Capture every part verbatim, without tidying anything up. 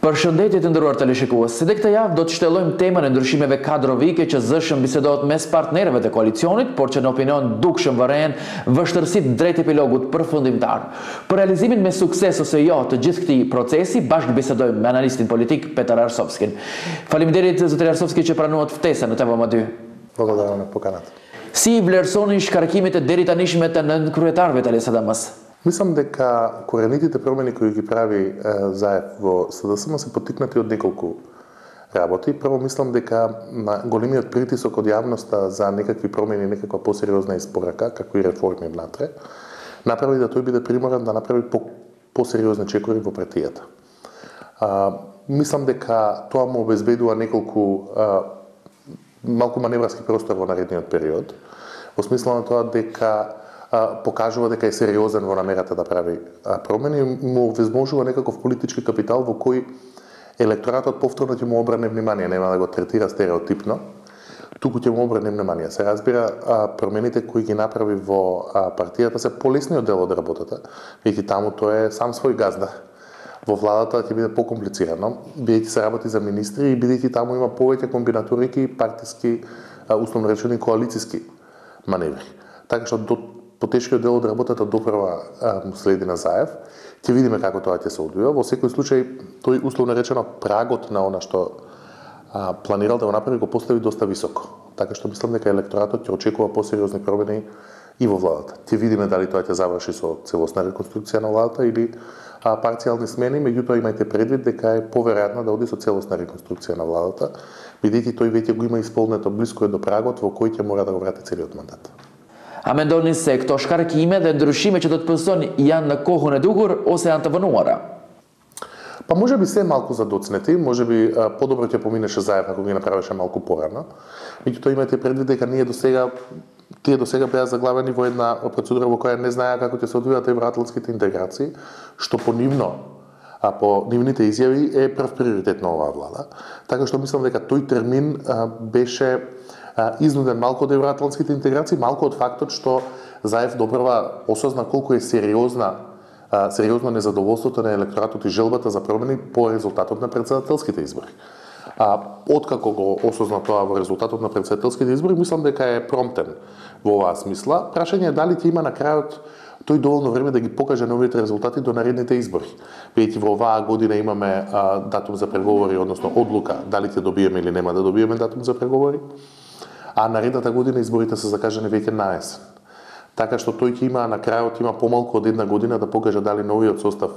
Përshëndetje të nderuar teleshikues. Si dhe këtë javë do të shtellojmë temën e ndryshimeve kadrovike që zëshëm bisedohet mes partnerëve të koalicionit, por që në opinion dukshëm vërejnë vështërsitë drejt epilogut përfundimtar. Për realizimin me sukses ose jo të gjithë këtij procesi, bashkë bisedojmë me analistin politik Petar Arsovskin. Faleminderit zotëri Arsovski që pranuat ftesën në T V M dy. Благодарам на поканата. Si i vlerësoni shkarkimet e deri tanishme të nënkryetarëve të L S D M-s? Мислам дека коренитите промени кои ги прави е, Заев во С D S M се поттикнати од неколку работи. Прво мислам дека на големиот притисок од јавноста за некакви промени, некаква посериозна испорака, како и реформи внатре, направи да тој биде приморан да направи по посериозни чекори во партијата. А, мислам дека тоа му обезбедува неколку а, малку маневрски простор во наредниот период, во смисла на тоа дека покажува дека е сериозен во намерата да прави промени, му возможува некаков политички капитал во кој електоратот повторно ќе му обране внимание, нема да го третира стереотипно, туку ќе му обране внимание. Се разбира, промените кои ги направи во партијата се полесниот дел од работата, бидејќи таму тој е сам свој газда. Во владата ќе биде покомплицирано, бидејќи се работи за министри и бидејќи таму има повеќе комбинаторики, партиски, условно речени коалициски маневри. Така што до потешкиот дел од работата допрва му следи на Заев. Ќе видиме како тоа ќе се одвива. Во секој случај, тој условно речено прагот на она што а, планирал да го направи го постави доста високо. Така што мислам дека електоратот ќе очекува посериозни промени и во владата. Ќе видиме дали тоа ќе заврши со целосна реконструкција на владата или а, парцијални смени, меѓутоа имајте предвид дека е поверојатно да оди со целосна реконструкција на владата, бидејќи тој веќе го има исполнето, близко е до прагот во кој ќе мора да го врати целиот мандат. A mendoni se këto shkarkime dhe ndryshime që do të pëson janë në kohën e duhur ose janë të vënuara? Па може би се малку задоцнети, може би подобро ќе поминеше Заев ако ги направеше малку порано. Меѓутоа имате предвид дека ние до сега тие до сега беа заглавени во една процедура во која не знаеа како ќе се одвијат евроатлантските интеграции, што по нивно а по нивните изјави е прв приоритет на оваа влада. Така што мислам дека тој термин а, беше изнуден малку од евроатлантските интеграции, малку од фактот што Заев добрва осозна колку е сериозна сериозно незадоволството на електоратот и желбата за промени по резултатот на претседателските избори. А откако го осозна тоа во резултатот на претседателските избори, мислам дека е промптен во оваа смисла. Прашање е дали ќе има на крајот тој доволно време да ги покаже новите резултати до наредните избори. Бидејќи во оваа година имаме а, датум за преговори, односно одлука дали ќе добиеме или нема да добиеме датум за преговори. А наредната година изборите се закажани веќе на есен. Така што тој ќе има на крајот има помалку од една година да покаже дали новиот состав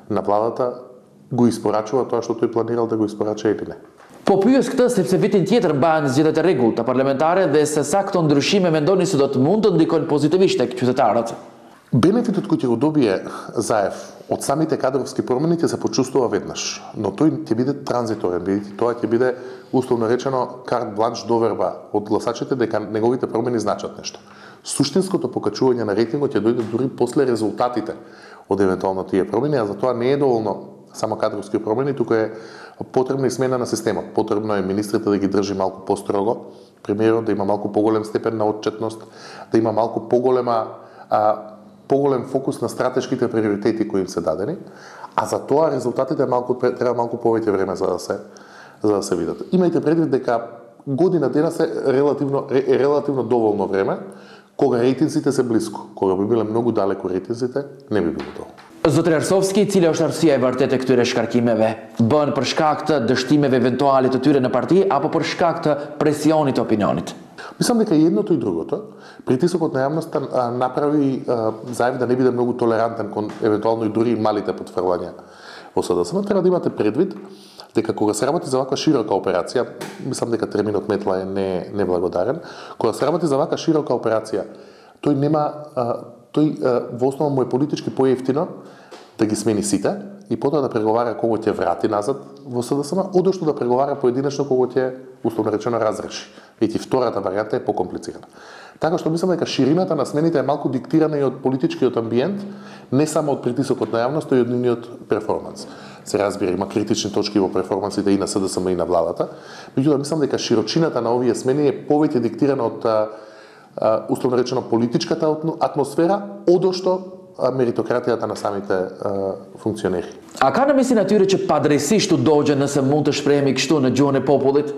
на владата го испорачува тоа што тој планирал да го испорача или не. Po pyes këtë sepse vitin tjetër mbahen zgjedhjet e rregullt parlamentare dhe se sa këto ndryshime mendoni se do të mund të ndikojnë pozitivisht tek qytetarët. Бенефитот кој ќе го добие Заев од самите кадровски промени ќе се почувствува веднаш, но тој ќе биде транзиторен, бидејќи тоа ќе биде условно речено карт бланш доверба од гласачите дека неговите промени значат нешто. Суштинското покачување на рейтингот ќе дојде дури после резултатите од евентуално тие промени, а за тоа не е доволно само кадровски промени, туку е потребна и смена на системот. Потребно е министрите да ги држи малку построго, премиерот да има малку поголем степен на отчетност, да има малку поголема а, поголем фокус на стратешките приоритети кои им се дадени, а за тоа резултатите малку треба малку повеќе време за да се за да се видат. Имајте предвид дека година дена се релативно е релативно доволно време, кога рейтинзите се блиску. Кога би биле многу далеку рейтинзите, не би било тоа. Zotëri Arsovski, cila është arsyeja e vërtetë e këtyre shkarkimeve? Bën për shkak të dështimeve eventuale të tyre në parti apo për shkak të presionit të opinionit? Мислам дека и едното и другото. Притисокот на јавноста направи Заев да не биде многу толерантен кон евентуално и дури малите потфрлања во С D S M. Треба да имате предвид дека кога се работи за ваква широка операција, мислам дека терминот метла е не неблагодарен, кога се работи за ваква широка операција, тој нема тој во основа му е политички поевтино да ги смени сите и потоа да преговара кого ќе врати назад во С D S M, одошто да преговара поединечно кого ќе условно речено разреши. Ведь и втората варијанта е покомплицирана. Така што мислам дека ширината на смените е малку диктирана и од политичкиот амбиент, не само од притисокот на јавноста и од нивниот перформанс. Се разбира, има критични точки во перформансите и на С D S M и на владата, меѓутоа мислам дека широчината на овие смени е повеќе диктирана од условно речено политичката атмосфера, одошто меритократијата на самите а, функционери. A ka në misi natyre që padrejsisht u dogje nëse mund të shprehemi kështu në gjuhën e popullit?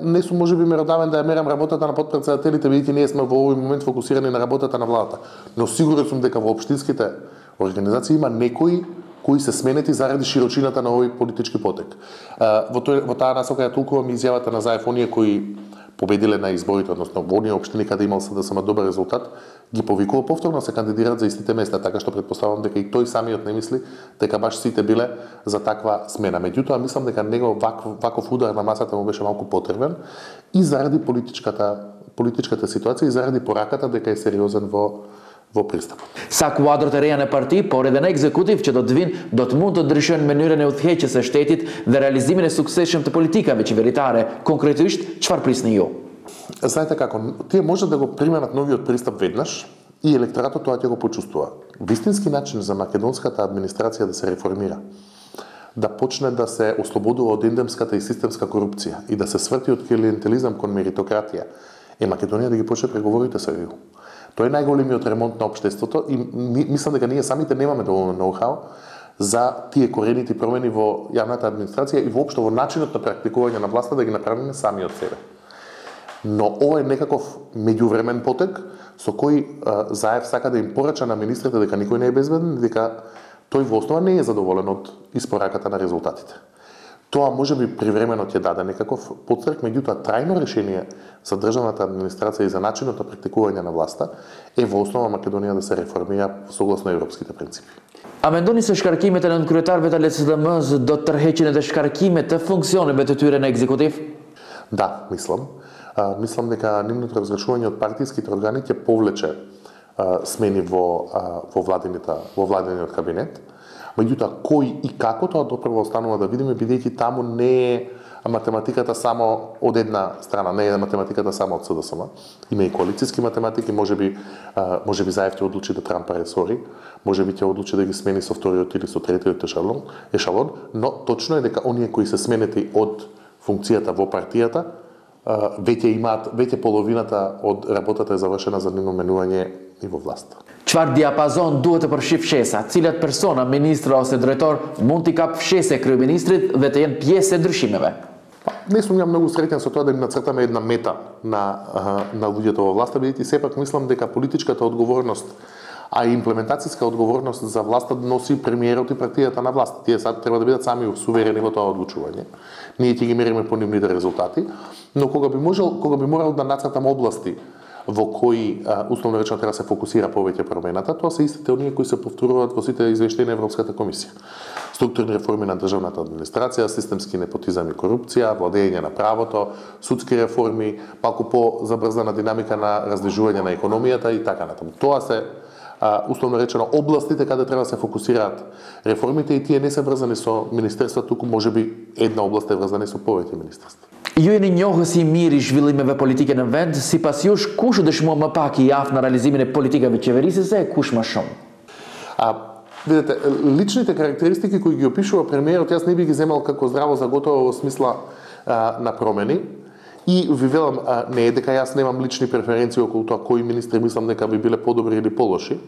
Не сум можеби меродавен да ја мерам работата на подпредседателите, бидејќи ние сме во овој момент фокусирани на работата на владата. Но сигурен сум дека во општинските организации има некои кои се сменети заради широчината на овој политички потек. Во, тој, во таа насока ја толкувам изјавата на Заев, оние кои победиле на изборите, односно во оние општини каде имал СДСМ добар резултат, ги повикува повторно се кандидираат за истите места, така што претпоставувам дека и тој самиот не мисли дека баш сите биле за таква смена. Меѓутоа мислам дека него ваков, ваков удар на масата му беше малку потребен и заради политичката политичката ситуација и заради пораката дека е сериозен во во пристапот. Sa kuadrët e reja në parti, por edhe në ekzekutiv që do të vinë, do të mund të ndryshojnë mënyrën e udhëheqjes së shtetit dhe realizimin e suksesshëm të politikave qeveritare. Konkretisht, çfarë prisni ju? Знаете како, тие може да го применат новиот пристап веднаш и електоратот тоа ќе го почувствува. Вистински начин за македонската администрација да се реформира, да почне да се ослободува од ендемската и системска корупција и да се сврти од клиентелизам кон меритократија, е Македонија да ги почне преговорите со Е У. Тоа е најголемиот ремонт на општеството и мислам дека ние самите немаме доволно ноу-хау за тие корените промени во јавната администрација и воопшто во начинот на практикување на власта да ги направиме сами од себе. Но ова е некаков меѓувремен потек со кој а, Заев сака да им порача на министрите дека никој не е безбеден, дека тој во основа не е задоволен од испораката на резултатите. Тоа може би привремено ќе даде некаков потстрек, меѓутоа трајно решение за државната администрација и за начинот на практикување на власта е во основа Македонија да се реформира согласно европските принципи. A mendoni se shkarkimet e nënkryetarëve të L S D M-s do të tërheqin edhe shkarkimet të funksioneve të tyre në ekzekutiv? Да, мислам. А, мислам дека нивното разрешување од партиските органи ќе повлече а, смени во а, во владината во владиниот кабинет. Меѓутоа кој и како тоа допрво останува да видиме, бидејќи таму не е математиката само од една страна, не е математиката само од СДСМ. Има и коалициски математики, можеби можеби Заев ќе одлучи да трампа ресори, можеби ќе одлучи да ги смени со вториот или со третиот ешалон, ешалон, но точно е дека оние кои се сменети од функцијата во партијата веќе имаат, веќе половината од работата е завршена за нивно менување и во власт. Çfarë diapazon duhet të përfshijë fshesa? Cilat persona, ministra ose drejtor mund t'i kap fshese kryeministrit dhe të jenë pjesë e ndryshimeve? Не сум ја многу среќен со тоа да им нацртаме една мета на на луѓето во власта, бидејќи сепак мислам дека политичката одговорност, а и имплементацијска одговорност за власта носи премиерот и партијата на власт. Тие сега треба да бидат сами суверени во тоа одлучување. Ние ќе ги мериме по нивните резултати, но кога би можел, кога би морал да нацртам области во кои условно речено треба да се фокусира повеќе промената, тоа се истите оние кои се повторуваат во сите извештаи на Европската комисија. Структурни реформи на државната администрација, системски непотизам и корупција, владење на правото, судски реформи, малку по-забрзана динамика на раздвижување на економијата и така натаму. Тоа се условно речено областите каде треба да се фокусираат реформите и тие не се врзани со министерства, туку можеби една област е врзана со повеќе министерства. Ju jeni njohës i mirë i zhvillimeve politike në vend, sipas jush kush dëshmon më pak i aftë në realizimin e politikave qeverisëse e kush më shumë? А, видите, личните карактеристики кои ги опишува премиерот, јас не би ги земал како здраво за готово во смисла а, на промени. И ви велам, а, не е дека јас немам лични преференции околу тоа кои министри мислам дека би биле подобри или полоши.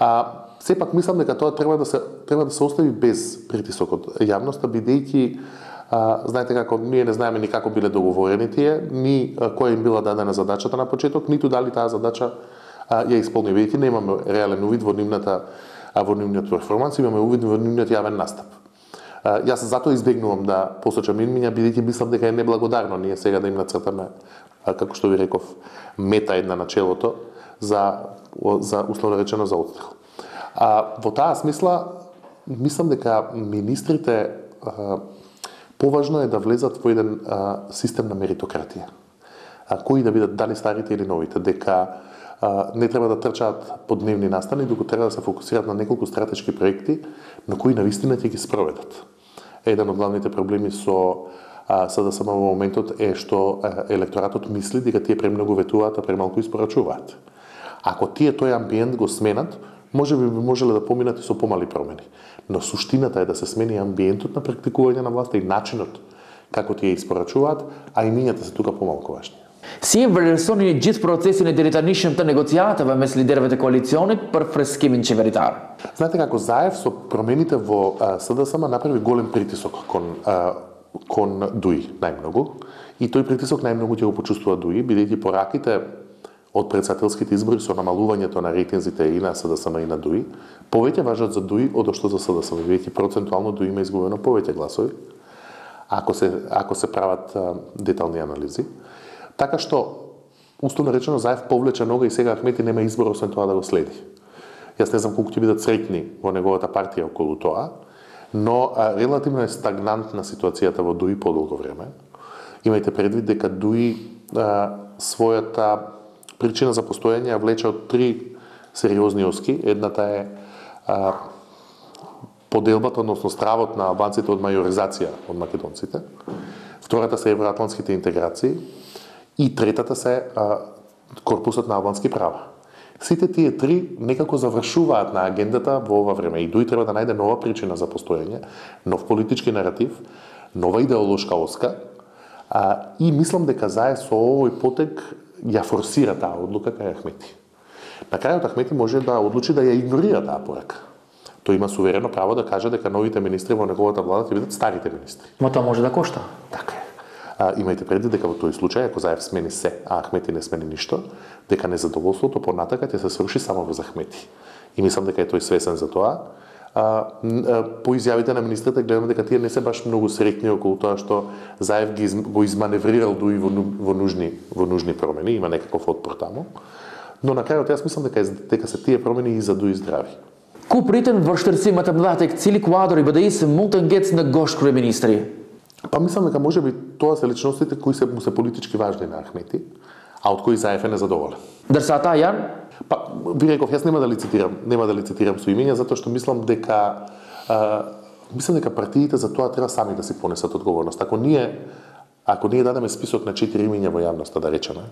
А, сепак мислам дека тоа треба да се треба да се остави без притисок од јавноста, бидејќи А, знаете како, ние не знаеме ни како биле договорени тие, ни а, која им била дадена задачата на почеток, ниту дали таа задача а, ја исполни, бидејќи немаме реален увид во нивната а, во нивниот перформанс, имаме увид во нивниот јавен настап. А, јас затоа избегнувам да посочам имиња, бидејќи мислам дека е неблагодарно ние сега да им нацртаме, а, како што ви реков, мета една на челото за за условно речено за отстрел. А во таа смисла мислам дека министрите а, поважно е да влезат во еден а, систем на меритократија. А, кои да бидат дали старите или новите, дека а, не треба да трчаат по дневни настани, дуку треба да се фокусираат на неколку стратешки проекти, на кои навистина ќе ги спроведат. Еден од главните проблеми со а, СДСМ во моментот е што а, електоратот мисли дека тие премногу ветуваат, а премалку испорачуваат. Ако тие тој амбиент го сменат, може би би можеле да поминат и со помали промени. Но суштината е да се смени амбиентот на практикување на власта и начинот како тие испорачуваат, а имињата се тука помалку важни. Си връсони gjithë procesin e deritanishëm të negociatave mes liderëve të koalicionit për freskimin qeveritар. Знаете како Заев со промените во СДСМ направи голем притисок кон а, кон Дуи најмногу и тој притисок најмногу ќе го почувствува Дуи, бидејќи пораките од председателските избори со намалувањето на рейтинзите и на СДСМ и на Дуи, повеќе важат за Дуи од што за СДСМ, бидејќи процентуално Дуи има изгубено повеќе гласови, ако се ако се прават а, детални анализи. Така што, условно речено, Заев повлече нога и сега Ахмети нема избор освен тоа да го следи. Јас не знам колку ќе бидат среќни во неговата партија околу тоа, но а, релативно е стагнантна ситуацијата во Дуи подолго време. Имајте предвид дека Дуи а, својата причина за постоење ја влече од три сериозни оски. Едната е а, поделбата, односно стравот на албанците од мајоризација од македонците. Втората се евроатлантските интеграции. И третата се а, корпусот на албански права. Сите тие три некако завршуваат на агендата во ова време и Дуи треба да најде нова причина за постоење, нов политички наратив, нова идеолошка оска, а, и мислам дека Заев со овој потек ја форсира таа одлука кај Ахмети. На крајот Ахмети може да одлучи да ја игнорира таа порака. Тој има суверено право да каже дека новите министри во неговата влада ќе бидат старите министри. Но тоа може да кошта. Така е. А, имајте предвид дека во тој случај, ако Заев смени се, а Ахмети не смени ништо, дека незадоволството понатака ќе се сврши само во Ахмети. И мислам дека е тој свесен за тоа. А, а, по изјавите на министрите гледаме дека тие не се баш многу среќни околу тоа што Заев ги го изманеврирал Дуи во, во нужни во нужни промени, има некаков отпор таму. Но на крајот јас мислам дека дека се тие промени и за Дуи здрави. Ku pritën vështirësimet e mëdha tek cili kuadër i B D I-s mund të ngecë në gosh kryeministri? Па мислам дека можеби тоа се личностите кои се му се политички важни на Ахмети, а од кои Заев е незадоволен. Дërsa ата janë? Па ви реков, јас нема да лицитирам, нема да лицитирам со имења затоа што мислам дека а, мислам дека партиите за тоа треба сами да си понесат одговорност. Ако ние ако ние дадеме список на четири имења во јавноста, да речеме,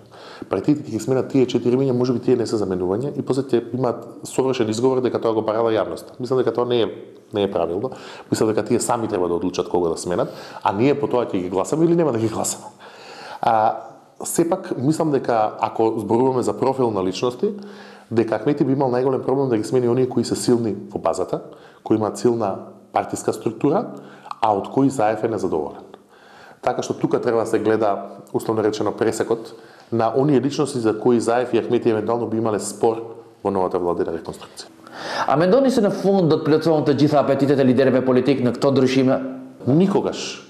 партиите ќе ги сменат тие четири имења, можеби тие не се заменувања и после ќе имаат совршен изговор дека тоа го барала јавноста. Мислам дека тоа не е не е правилно. Мислам дека тие сами треба да одлучат кого да сменат, а ние по тоа ќе ги гласаме или нема да ги гласаме. А сепак мислам дека ако зборуваме за профил на личности, дека Ахмети би имал најголем проблем да ги смени оние кои се силни во базата, кои имаат силна партиска структура, а од кои Заев е незадоволен. Така што тука треба да се гледа, условно речено, пресекот на оние личности за кои Заев и Ахмети евентуално би имале спор во новата владина реконструкција. A mendoni se në fund do të plotësohen të gjitha apetitet e liderëve politik në këto ndryshime? Никогаш.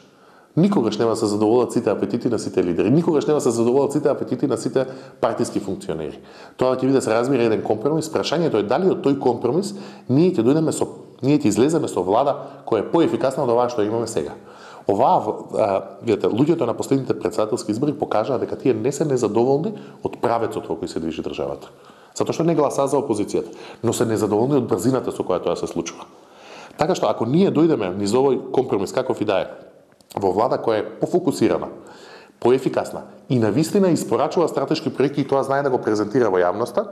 Никогаш нема да се задоволат сите апетити на сите лидери. Никогаш нема да се задоволат сите апетити на сите партиски функционери. Тоа ќе биде се разбира еден компромис. Прашањето е дали од тој компромис ние ќе дојдеме со ние ќе излеземе со влада која е поефикасна од ова што имаме сега. Оваа, видите, луѓето на последните председателски избори покажаа дека тие не се незадоволни од правецот во кој се движи државата. Затоа што не гласаа за опозицијата, но се незадоволни од брзината со која тоа се случува. Така што ако ние дојдеме низ овој компромис каков и да е, во влада која е пофокусирана, поефикасна и навистина испорачува стратешки проекти и тоа знае да го презентира во јавноста,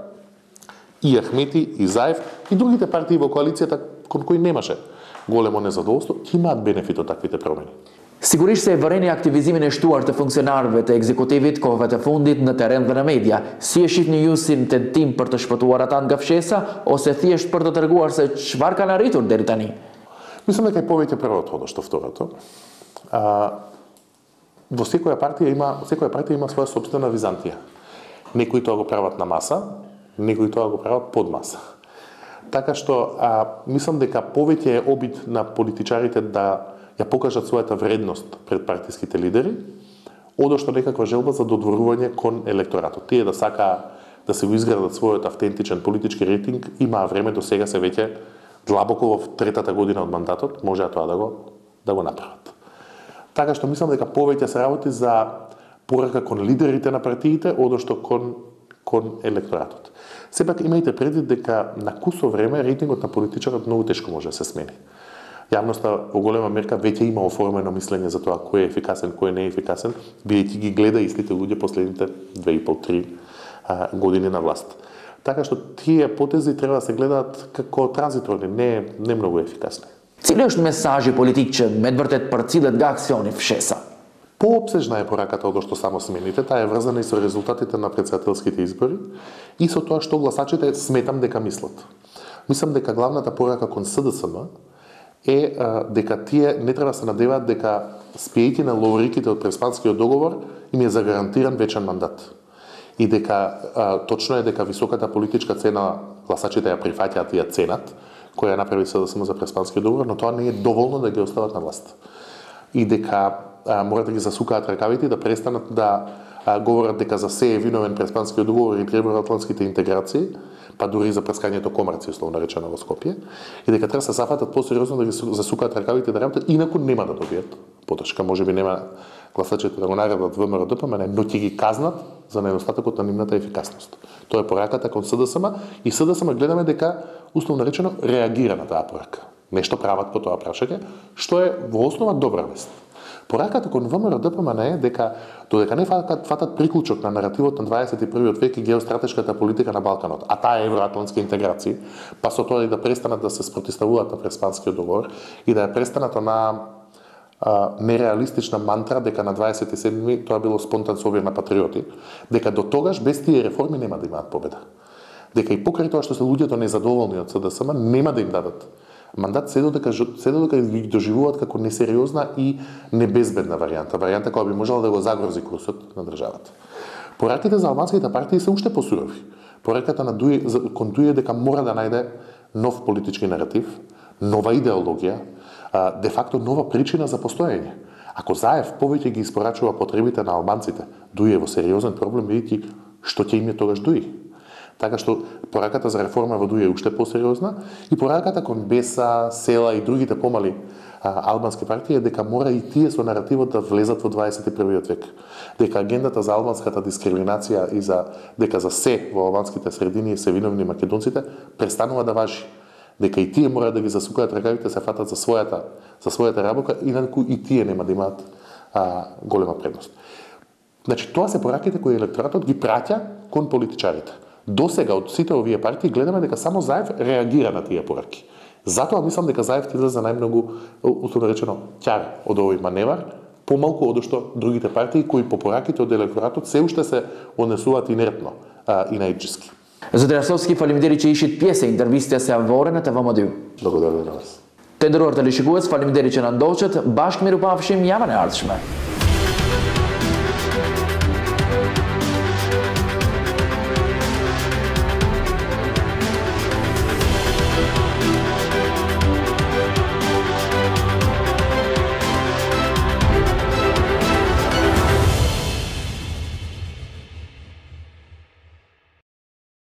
и Ахмети, и Заев, и другите партии во коалицијата кон кои немаше големо незадоволство, ќе имаат бенефит од таквите промени. Sigurisht se e vëreni aktivizimin e shtuar të funksionarëve të ekzekutivit kohëve të fundit në terren dhe në media. Si e shihni ju si në tentim për të shpëtuar ata nga fshesa ose thjesht për të treguar se çfarë kanë arritur deri tani? Мислам дека е повеќе првото од што второто. А, во секоја партија има секоја партија има своја сопствена византија. Некои тоа го прават на маса, некои тоа го прават под маса. Така што а, мислам дека повеќе е обид на политичарите да ја покажат својата вредност пред партиските лидери, одошто некаква желба за додворување кон електоратот. Тие да сакаа да се го изградат својот автентичен политички рейтинг, имаа време до сега се веќе длабоко во третата година од мандатот, можеа тоа да го да го направат. Така што мислам дека повеќе се работи за порака кон лидерите на партиите, одошто кон кон електоратот. Сепак имајте предвид дека на кусо време рейтингот на политичарот многу тешко може да се смени. Јавноста во голема мерка веќе има оформено мислење за тоа кој е ефикасен, кој не е ефикасен, бидејќи ги гледа истите луѓе последните две и пол три години на власт. Така што тие потези треба да се гледаат како транзиторни, не не многу ефикасни. Cili është mesazhi politik që me të vërtet përcillet nga aksioni fshesa? Поопсежна е пораката од што само смените, таа е врзана и со резултатите на претседателските избори и со тоа што гласачите сметам дека мислат. Мислам дека главната порака кон СДСМ е а, дека тие не треба да се надеваат дека спејќи на лауриките од Преспанскиот договор им е загарантиран вечен мандат. И дека а, точно е дека високата политичка цена гласачите ја прифаќаат и ја ценат, која ја направи СДСМ за Преспанскиот договор, но тоа не е доволно да ги остават на власт. И дека а, мора да ги засукаат ракавите и да престанат да а, говорат дека за се е виновен Преспанскиот договор и евроатлантските интеграции, па дури и за прескањето комарци, условно речено во Скопје, и дека треба да се зафатат посериозно да ги засукаат ракавите да работат, инаку нема да добијат подршка. Можеби нема гласачите да го наградат ВМРО-ДПМН, но ќе ги казнат за недостатокот на нивната ефикасност. Тоа е пораката кон СДСМ и СДСМ гледаме дека, условно речено, реагира на таа порака. Нешто прават по тоа прашање, што е во основа добра вест. Пораката кон ВМРО-ДПМН е дека додека не фатат, фатат приклучок на наративот на дваесет и првиот век и геостратешката политика на Балканот, а таа е евроатлантски интеграции, па со тоа и да престанат да се спротивставуваат на Преспанскиот договор и да ја престанат на а, нереалистична мантра дека на дваесет и седми тоа било спонтан собир на патриоти, дека до тогаш без тие реформи нема да имаат победа. Дека и покрај тоа што се луѓето незадоволни од СДСМ нема да им дадат мандат, се додека се додека ги доживуваат како несериозна и небезбедна варијанта, варијанта која би можела да го загрози курсот на државата. Пораките за албанските партии се уште посурови. Пораката на Дуј кон Дуј дека мора да најде нов политички наратив, нова идеологија, де факто нова причина за постоење. Ако Заев повеќе ги испорачува потребите на албанците, Дуј е во сериозен проблем, видите што ќе им е тогаш Дуј. Така што пораката за реформа во Дуј е уште посериозна и пораката кон Беса, Села и другите помали а, албански партии е дека мора и тие со наративот да влезат во дваесет и првиот век. Дека агендата за албанската дискриминација и за дека за се во албанските средини се виновни македонците престанува да важи. Дека и тие мора да ги засукаат ракавите, се фатат за својата за својата работа, инаку и тие нема да имаат а, голема предност. Значи тоа се пораките кои електоратот ги праќа кон политичарите. До сега од сите овие партии гледаме дека само Заев реагира на тие пораки. Затоа мислам дека Заев ти за најмногу, условно речено, ќар од овој маневар, помалку од што другите партии кои по пораките од електоратот се уште се однесуваат инертно а, и најчиски. Зодрасовски фалимдери че ишит пјесе интервистија се ворената во модиу. Благодарам на вас. Тендеруар телешикувац фалимдери че нандолчат, башк мирупавшим јаване артшме.